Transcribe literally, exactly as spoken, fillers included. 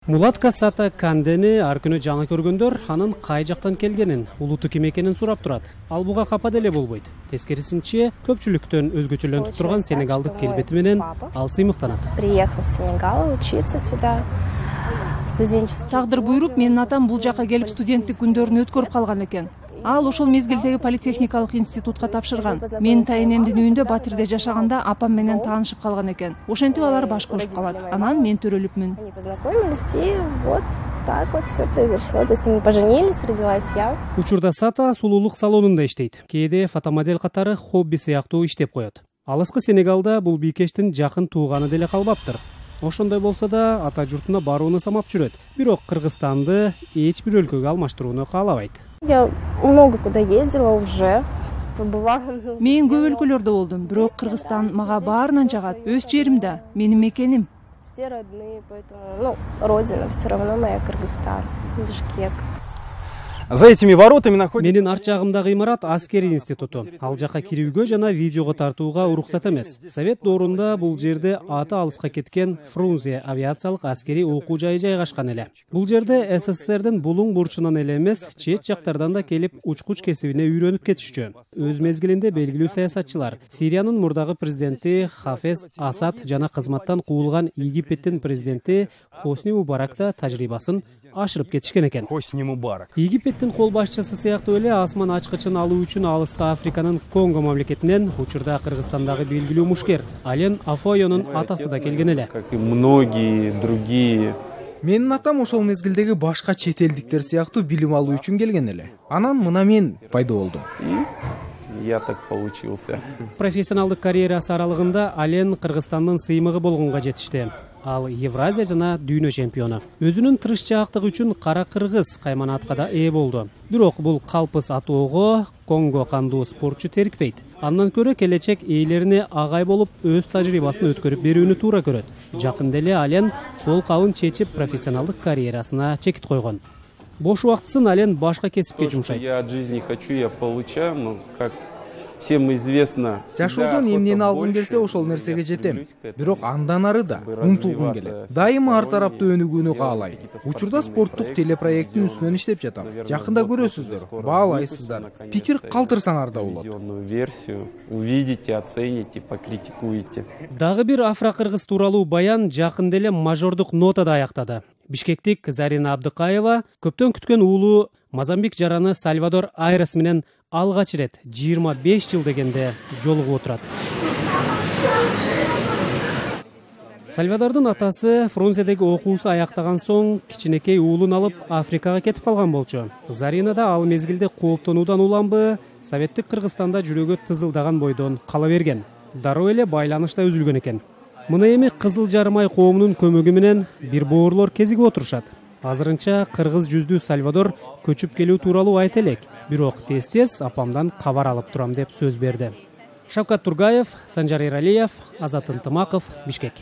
Мулатка Сата Кандени ар күнү жаңы көргөндөр анын кай жактан келгенин, улуту ким экенин сурап турат. Ал буга капа деле болбойт. Тескерисинче, көпчүлүктөн өзгөчөлөнүп турган сенегалдык келбети менен ал сыймыктанат. Приехал в Сенегал учиться сюда. Тагдыр буйруп, менин атам бул жака келип студенттик күндөрүн өткөрүп калган экен. Ал ошол мезгилдеги политехникалык институтка тапшырган. Менин тайенемдин үйүндө Батирде жашаганда апам менен таанышып калган экен. Ошентип алар баш кошуп калат. Анан мен төрөлүпмүн. Они познакомились, и вот так вот все произошло. То есть мы поженились, родилась я. Учурда Сата сулуулук салонунда иштейт. Кээде фотомодель катары хобби сыяктуу иштеп коет. Алыскы Сенегалда бул бийкештин жакын тууганы деле калбаптыр. Ошондой болсо да ата журтуна барууну самап жүрөт. Бирок Кыргызстанды эч бир өлкөгө алмаштырууну каалабайт. Я много куда ездила уже. Мен көп өлкөлөрдө болдум, бирок Кыргызстан мага баарынан жагат. Өз жерим да, менин мекеним. Все родные, поэтому, ну, родина все равно моя Кыргызстан, Бишкек. За этими воротами находится... Менин арт жагымдагы имарат аскери институту. Ал жака кирүүгө жана видеого тартууга уруксат эмес. Совет доорунда бул жерде аты алыска кеткен Фрунзе авиациялык аскери окуу жайы жайгашкан эле. Бул жерде СССРдин булуң бурчунан эле эмес, чет жактардан да келип учкуч кесибине үйрөнүп кетишчү. Өз мезгилинде белгилүү саясатчылар, Сириянын мурдагы президенти Хафез Асад жана кызматтан куулган Египеттин президенти Хосни Мубарак да тажрыйбасын ашырып кетишкен экен. Хосни Мубарак. Египеттин кол башчысы сыяктуу эле асман ачкычын алуу үчүн алыска Африканын Конго мамлекетинен учурда Кыргызстандагы белгилүү мушкер Ален Афойонун атасы да келген эле. Как и многие другие. Менин атам ошол мезгилдеги башка чет элдиктер сыяктуу билим алуу үчүн келген эле. Анан мына мен пайда болдум. Я так получился. Профессионалдык карьерасы аралыгында Ален Кыргызстандын сыймыгы болгонго жетишти. Ал Евразия жана дүйнө чемпиону. Өзүнүн тырышчаактыгы үчүн Кара Кыргыз кайманатка да ээ болду. Бирок бул калпыс атоого Конго кандуу спортчу терикпейт. Андан көрө келечек ээлерине агай болуп өз тажрыйбасын өткөрүп берүүнү туура көрөт. Жакында эле Ален кол кабын чечип профессионалдык карьерасына чекит койгон. Бош убактысын Ален башка кесипке жумшайт. Я от жизни хочу, я получаю, но как всем известно. Жашоодон эмнени алгым келсе ошол нерсеге жетем. Бирок андан ары да умтулгум келет. Дайыма ар тараптуу өнүгүүнү каалайм. Учурда спорттук телепроекттин үстүнөн иштеп жатам. Жакында көрөсүздөр, баалайсыздар. Пикир калтырсаңар да болот. Версию увидите, оцените, покритикуете. Дагы бир афро-кыргыз тууралуу баян жакында эле мажордук нотада аяктады. Бишкектик Зарина Абдыкаева көптөн күткөн уулу Мозамбик жараны Сальвадор Айрес менен алгач ирет жыйырма беш жыл дегенде жолугуп отурат. Сальвадордун атасы Фрунзедеги окуусу аяктаган соң кичинекей уулун алып Африкага кетип калган болчу. Зарина да ал мезгилде кооптонуудан уламбы, советтик Кыргызстанда жүрөгү тызылдаган бойдон кала берген. Дароо эле байланыш да үзүлгөн экен. Мына эми Кызыл Жарымай коомунун көмөгү менен бир боорлор кезигип отурушат. Азырынча кыргыз жүздүү Сальвадор көчүп келүү тууралуу айта элек. Бирок тез-тез апамдан кабар алып турам деп сөз берди. Шавкат Тургаев, Санжар Эралиев, Азат Ынтымаков, Бишкек.